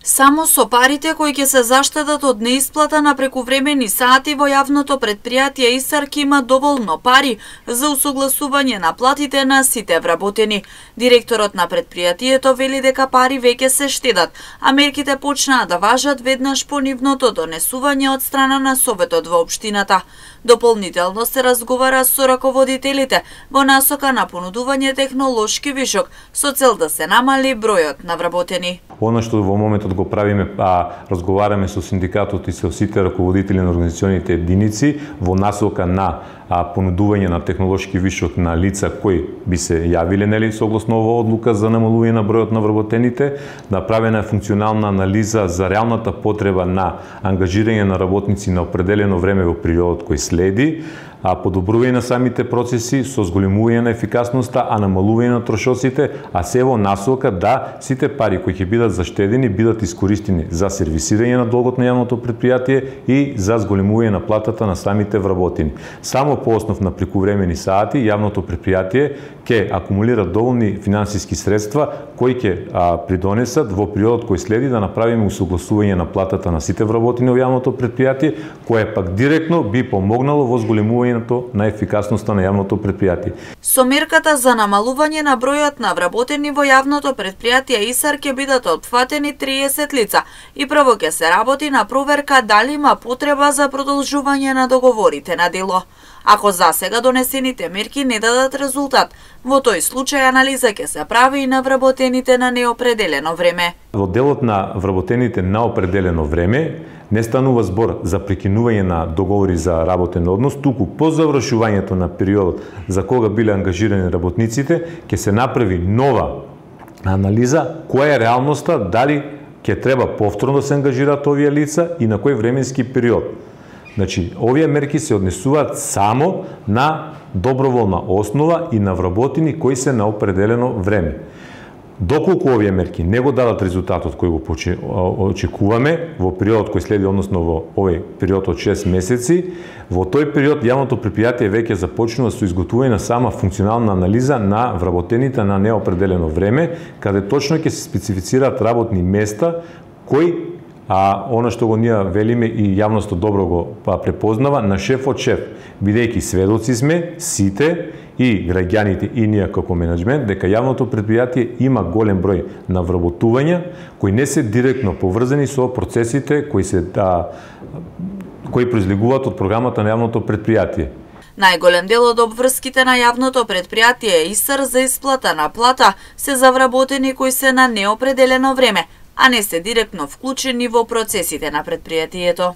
Само со парите кои ќе се заштедат од неисплата на прекувремени сати во јавното претпријатие ИСАР ќе има доволно пари за усогласување на платите на сите вработени. Директорот на претпријатието вели дека пари веќе се штедат, а мерките почнаа да важат веднаш по нивното донесување од страна на Советот во општината. Дополнително се разговара со раководителите во насока на понудување технолошки вишок со цел да се намали бројот на вработени. Она што во моментот го правиме, разговараме со синдикатот и со сите раководители на организационите единици во насока на понудување на технолошки вишок на лица кои би се јавиле согласно оваа одлука за намалување на бројот на вработените. Направена е функционална анализа за реалната потреба на ангажирање на работници на определено време во периодот кој следи, подобрување на самите процеси со зголемување на ефикасноста, намалување на трошоците, а се во насока да сите пари кои ќе бидат заштедени бидат искористени за сервисирање на долгот на јавното претпријатие и за зголемување на платата на самите вработени. Само по основ на прекувремени сати јавното претпријатие ќе акумулира доволни финансиски средства кои ќе придонесат во периодот кој следи да направиме усогласување на платата на сите вработени во јавното претпријатие, кое пак директно би помогнало во зголемување на ефикасноста на јавното претпријатие. Со мерката за намалување на бројот на вработени во јавното претпријатие ИСАР ќе бидат опфатени 30 лица и прво ќе се работи на проверка дали има потреба за продолжување на договорите на дело. Ако засега донесените мерки не дадат резултат, во тој случај анализа ќе се прави и на вработените на неопределено време. Во делот на вработените на определено време не станува збор за прекинување на договори за работен однос, туку по завршувањето на периодот за кога биле ангажирани работниците, ќе се направи нова анализа која е реалноста, дали ќе треба повторно да се ангажираат овие лица и на кој временски период. Значи, овие мерки се однесуваат само на доброволна основа и на вработени кои се на определено време. Доколку овие мерки не го дадат резултатот кој го очекуваме во периодот кој следи, односно во овој период од 6 месеци, во тој период јавното претпријатие веќе започнува со изготвување на сама функционална анализа на вработените на неопределено време, каде точно ќе се специфицираат работни места кои она што го ние велиме и јавноста добро го препознава на шеф од шеф, бидејќи сведоци сме сите и граѓаните и ние како менеджмент дека јавното претпријатие има голем број на вработувања кои не се директно поврзани со процесите кои произлегуваат од програмата на јавното претпријатие. Најголем дел од обврските на јавното претпријатие ИСАР за исплата на плата се за вработени кои се на неопределено време, а не се директно вклучени во процесите на претпријатието.